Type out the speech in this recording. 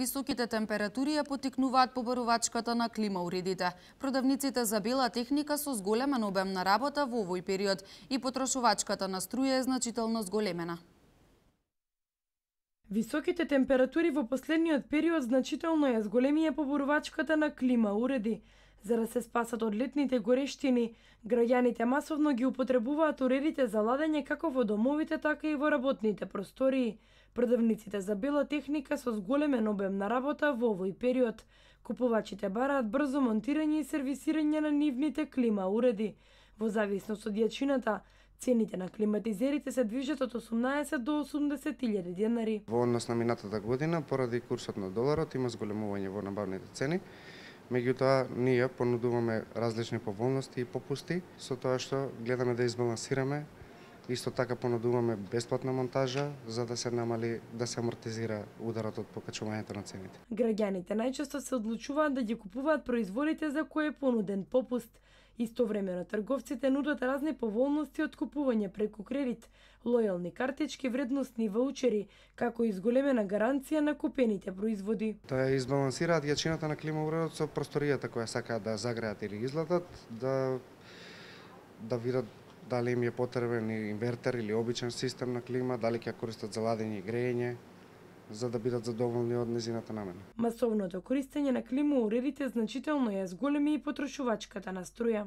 Високите температури ја поттикнуваат побарувачката на клима уредите. Продавниците за бела техника со зголемен обем на работа во овој период и потрошувачката на струја е значително зголемена. Високите температури во последниот период значително ја зголемија побарувачката на клима уреди. За да се спасат од летните горештини, граѓаните масовно ги употребуваат уредите за ладење како во домовите, така и во работните простории. Продавниците за бела техника со зголемен обем на работа во овој период. Купувачите бараат брзо монтирање и сервисирање на нивните клима уреди. Во зависност од јачината, цените на климатизерите се движат од 18 до 80.000 денари. Во однос на минатата година, поради курсот на доларот, има зголемување во набавните цени. Меѓутоа, ние понудуваме различни поволности и попусти, со тоа што гледаме да избалансираме. Исто така понудуваме бесплатна монтажа за да се намали, да се амортизира ударот од покачувањето на цените. Граѓаните најчесто се одлучуваат да ги купуваат производите за кои е понуден попуст. Истовремено трговците нудат разни поволности од купување преку кредит, лојални картички, вредносни ваучери, како и зголемена гаранција на купените производи. Да избалансираат јачината на климауредот со просторијата која сакаат да загреат или излатат, да видат дали им е потребен инвертер или обичен систем на клима, дали ќе користат за ладење и грејење, за да бидат задоволни од незината намена. Масовното користење на климауредите значително ја зголеми и потрошувачката на струја.